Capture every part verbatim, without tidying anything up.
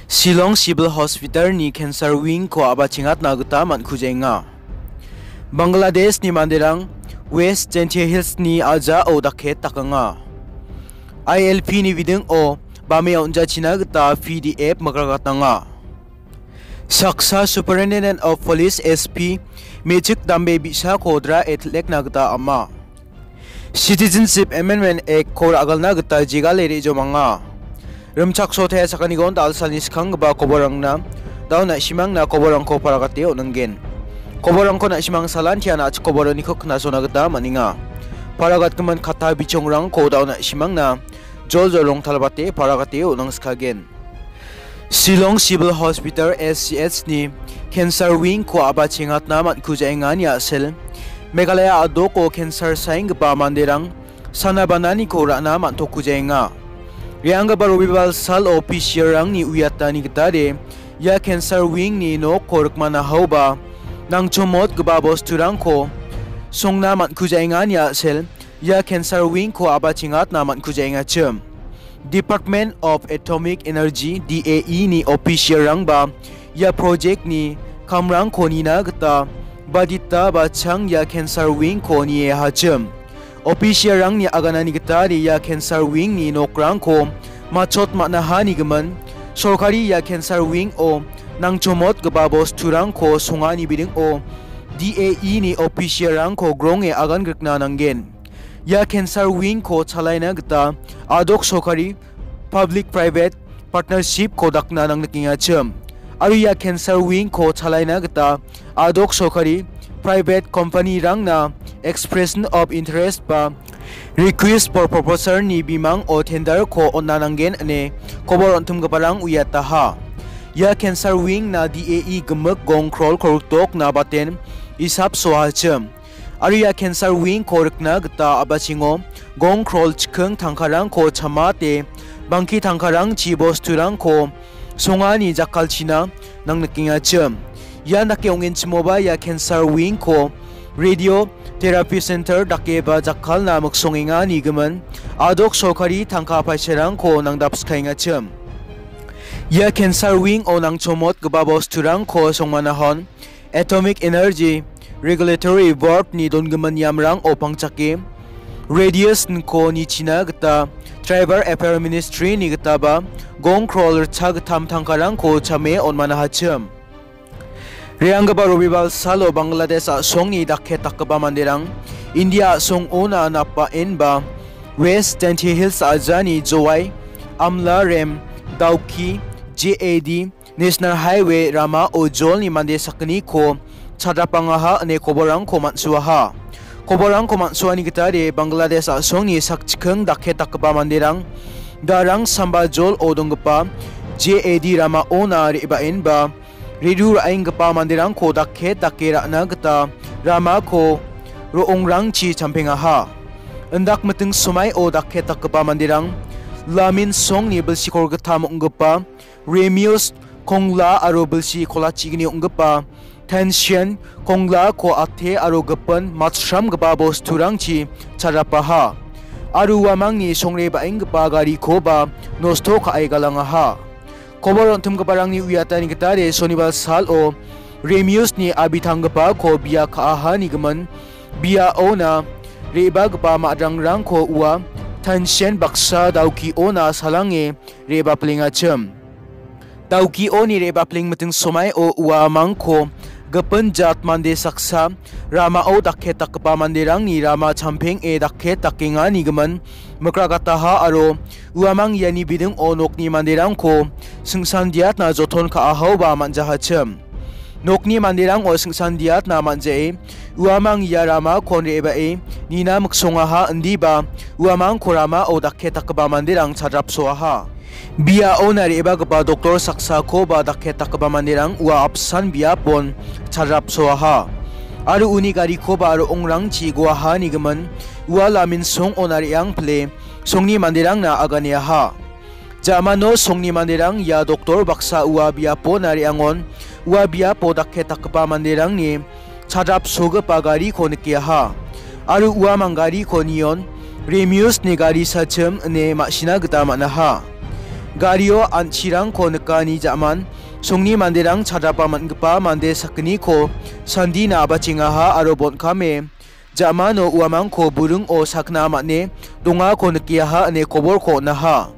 Shillong Civil Hospital-ni cancer wing-ko a·bachengatna gita man·kujaenga. Bangladeshni manderang West Jaintia Hills-ni a·jao dakket dakanga. I L P-ni bidingo bame on·jachina gita P D F mikragatnanga. Saksa Superintendent of Police, S P, me·chik dambe bi·sako dra·e tel·ekna gita ama. Citizenship Amendment Act-ko ra·galna gita jegale re·jomanga. Rimchaksote sakgnigon dalsalni skanggipa koborrangna dao na·simangna koborrangko paragate on·ningen. Koborrangko na·simang salantian a·chik koboroniko knasona gita man·enga. Paragatgimin katta bichongrangko dao na·simangna joljol rongtalbate paragate on·angskagen. Shillong Civil Hospital, S C H-ni cancer wing-ko a·bachengatna man·kujaengani a·sel, Meghalaya a·doko cancer saenggipa manderang sana bananiko ra·na man·tokkujaenga. Re·anggipa Robibal salo P C R-rangni uiatani gitade ia cancer wing-ni nokko rikmana haoba nangchomotgipa bosturangko songna man·kujaengani a·sel ia cancer wing-ko a·bachengatna man·kujaengachim. Department of Atomic Energy, D A E-ni official-rangba ia project-ni kamrangko nina gita badita ba chang ia cancer wing-ko niehachim. Official-rangni aganani gita ia cancer wing-ni nokrangko machot man·ahanigimin, sorkari ia cancer wing-o nangchomotgipa bosturangko songani bidingo D A E-ni official-rangko gronge agan grikna nanggen. Ia cancer wing-ko chalaina gita a·dok sorkari public private partnership-ko dakna nangnikengachim. Aro ia cancer wing-ko chalaina gita a·dok sorkari private company-rangna expression of interest ba request for proposal-ni bimango tender-ko on·na nanggen ine kobor on·timgiparang uiataha. Ia cancer wing-na D A E gimik gong krol kolgrikdokna baten isap soachim. Aro ia cancer wing-ko rikna gita a·bachengo gong krol chikking tangkarangko chamate bangki tangkarangchi bosturangko songani jakkalchina nangnikengachim. Ian dake ong·enchimoba ia cancer wing-ko radio therapy center dakeba jakkalna miksongenganigimin a·dok sorkari tangka paisarangko nangdapskaengachim. Ia cancer wing-o nangchomotgipa bosturangko songmanahon Atomic Energy Regulatory Board-ni dongimin niamrango pangchake, radiation-ko nichina gita Tribal Affair Ministry-ni gitaba gong krol ritchagittam tangkarangko chame on·manahachim. Re·anggipa Robibal salo Bangladesh a·songni dakket dakgipa manderang India a·songona napa·enba West Jaintia Hills a·jani Jowai, Amlarem, Dawki, J A D, National Highway ramao jolni mande sakgniko chadrapangaha ine koborrangko man·suaha. Koborrangko man·suani gitade Bangladesh a·songni sakchikking dakket dakgipa manderang Darang Samba jolo donggipa J A D ramaona re·baenba redu ra·enggipa manderangko dakket dake ra·na gita ramako ro·ongrangchi champengaha. Indak miting somaio dakket dakgipa manderang Lamin Songni bilsi kolgittam ong·gipa Remius Kongla aro bilsi kolachigni ong·gipa Tension Konglako ate aro gipin matchramgipa bosturangchi chadrapaha. Aro uamangni songre ba·enggipa garikoba nosto ka·e galangaha. Kobor on·timgiparangni uiatani gitade Sonibar salo Remiusni abitanggipako bia ka·ahanigimin biaona re·bagipa ma·drangrangko ua Tension baksa Dawkiona salange re·baplengachim. Dawkioni re·bapleng miting somaio uamangko gipin jat mande saksa ramao dakket dakgipa manderangni rama champeng·e dakket dakenganigimin mikragataha aro uamang iani bidingo nokni manderangko singsandiatna joton ka·ahaoba man·jahachim. Nokni manderango singsandiatna man·ja·e uamang ia ramakon re·bae nina miksongaha indiba uamangko ramao dakket dakgipa manderang chadrapsoaha. Biaona re·bagipa doktor saksakoba dakket dakgipa manderang ua apsan biapon chadrapsoaha. Aro uni garikoba ro·ongrangchi guahanigimin ua Lamin Songona re·ang pile Songni manderangna aganiaha. Ja·mano Songni manderang ia doktor baksa ua biapona re·angon ua biapo dakket dakgipa manderangni chadrapsogipa gariko nikiaha. Aro uamang gariko nion Remiusni gari sachim ine ma·sina gita man·aha. Gario an·chirangko nikani ja·man songni manderang chadrapa man·gipa mande sakgniko sandina abachengaha aro bon·kame ja·mano uamangko buringo sakna man·e dongako nikengaha ine koborko on·aha.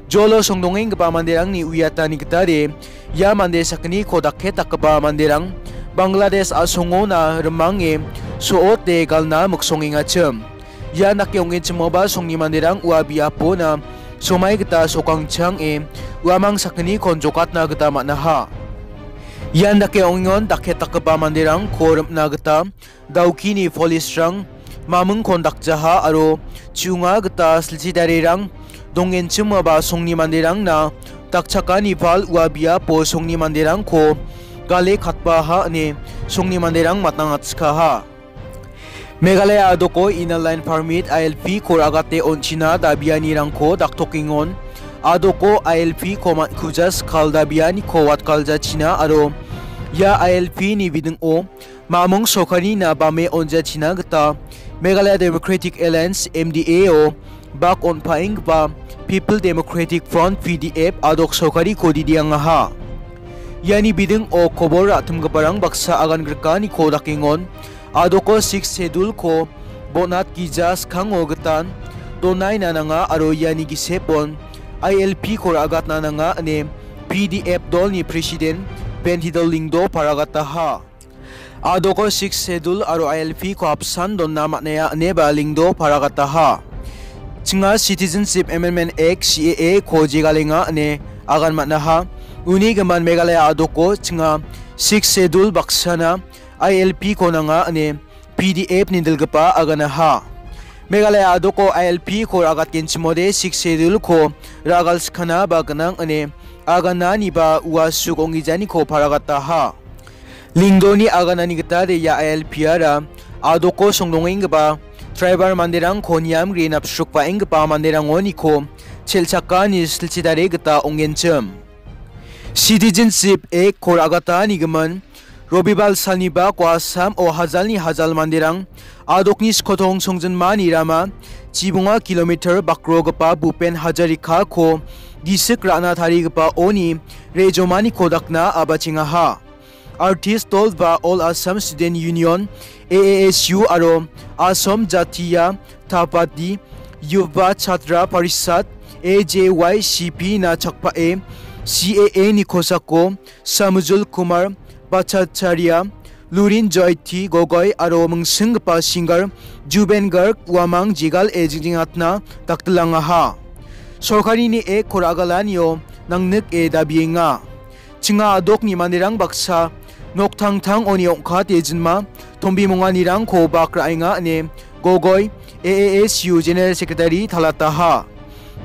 Jolo songdongenggipa manderangni uiatani gitade ia mande sakgniko dakket dakgipa manderang Bangladesh a·songona rimange so·ote galna miksongengachim. Ian dake ong·enchimoba songni manderang ua biapona somai gita sokangchange uamang sakgnikon jokatna gita man·aha. Ian dake ong·engon dakket dakgipa manderangko rim·na gita Daukini police-rang mamingkon dakjaha aro chu·nga gita silchi tarirang dongenchimoba songni manderangna dakchakani pal ua biapo songni manderangko gale katbaha ine songni manderang matnangatchikaha. Meghalaya adoko Inner Line Permit, I L P, ko ra·gate on·china dabianirangko daktokengon. Adoko I L P ko man·kuja skal dabianiko watkaljachina aro ia I L P ni bidingo mamung sorkarina bame on·jachina gita Meghalaya Democratic Alliance, M D A, o bak on·paenggipa People Democratic Front, P D F, adok sorkariko didiangaha. Iani bidingo kobor ra·timgiparang baksa agan grikaniko dakengon. Adoko Sixth Schedule-ko bonat gija skango gitan donaina nanga aro iani gisepon I L P-ko ra·gatna nanga ine P D F dolni President Bentidol Lyngdoh paragataha. Adoko Sixth Schedule aro I L P-ko apsan donna man·aia ineba Lyngdoh paragataha. Chinga Citizenship Amendment Act, C A A, ko jegalenga ine agan man·aha. Uni gimin Meghalaya adoko chinga Sixth Schedule baksana I L P-ko nanga ine P D F ni dilgipa aganaha. Meghalaya adoko I L P-ko ra·gatgenchimode Sixth Schedule-ko ra·galskana ba gnang ine agananiba ua suk ong·gijaniko paragataha. Lyngdohni aganani gitade ia I L P-ara adoko songdongenggipa tribal manderangko niamgri napsrukbaenggipa manderangoniko chelchakani silchidare gita ong·genchim. Citizenship Act-ko ra·gatani gimin Robibal salni bako Assam-o hajalni hajal manderang adokni skotong songjinmani rama chibonga kilometer bakrogipa Bhupen Hazarika-ko gisik ra·na tarigipa oni rejomaniko dakna abachengaha. Artist dol ba All Assam Student Union, A A S U, aro Assam Jatiya Tabati Yuva Chhatra Parishad, A J Y C P, na chakpae C A A ni kosako Samujul Kumar Bhattacharya, Lurin Joy T Gogoi aro mingsinggipa singer Juben Garg uamang jegal e jingjengatna daktilangaha. Sorkarini ek koragalanio nangnik e dabienga. Chinga adokni manderang baksa noktangtangoni ong·kate jinma tombimonganirangko bak ra·enga ine Gogoi, A A S U General Secretary, talataha.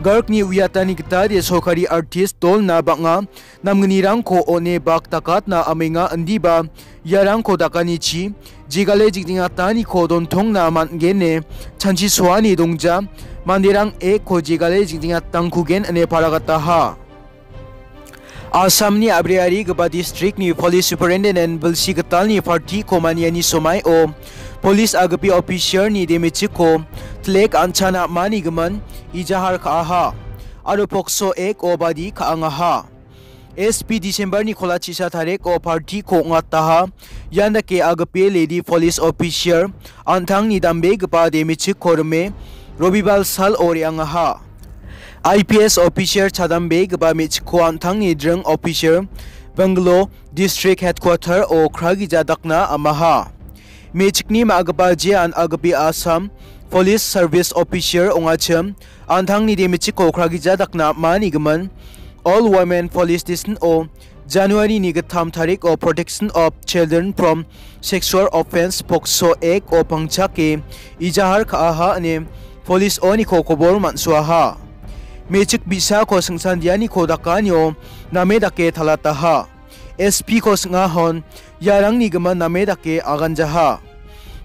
Gargni uiatani gitade sorkari artist dolna bang·a namgnirangko on·e bak dakatna amenga indiba iarangko dakanichi jegale jingjengataniko dontongna man·gen ine chanchisoani dongja manderang ekko jegale jingjengatangkugen ine paragataha. Assamni abriarigipa districtni police superintendent bilsi gitalni partyko maniani somaio police agipi officerni demechiko tlek an·chana am·ani gimin ijahar ka·aha aro pokso ek-o badi ka·angaha. S P Decemberni kolachisa tariko partyko ong·ataha. Ian dake agipi lady police officer an·tangni dambegipa demechiko rime Robibal salo re·angaha. I P S officer chadambegipa me·chikko an·tangni dring officer Bangalore District Headquarter-o kragija dakna amaha. Me·chikni ma·gipa jean agipi Assam Police Service Officer ong·achim an·tangni demechiko kragija dakna ama·ani gimin All Women Police Station-o January-ni gittam tariko Protection of Children from Sexual Offence, pokso ek-o pangchake ijahar ka·aha ine police-oniko kobor man·soaha. Me·chik bi·sako singsandianiko dakanio name dake talataha. S P-ko sing·ahon iarangni gimin name dake aganjaha.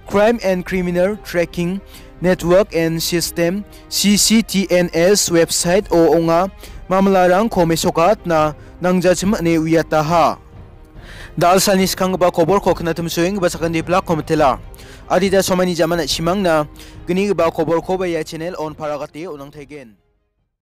Crime and Criminal Tracking Network and System, C C T N S, website-o ong·a mamlarangko mesokatna nangjachim ine uiataha. Dalsalni skanggipa koborko knatimsoenggipa sakantipilakko mitela. Adita somaini jaman a·simangna gnigipa koborkoba ia channel-on paragate on·angtaigen.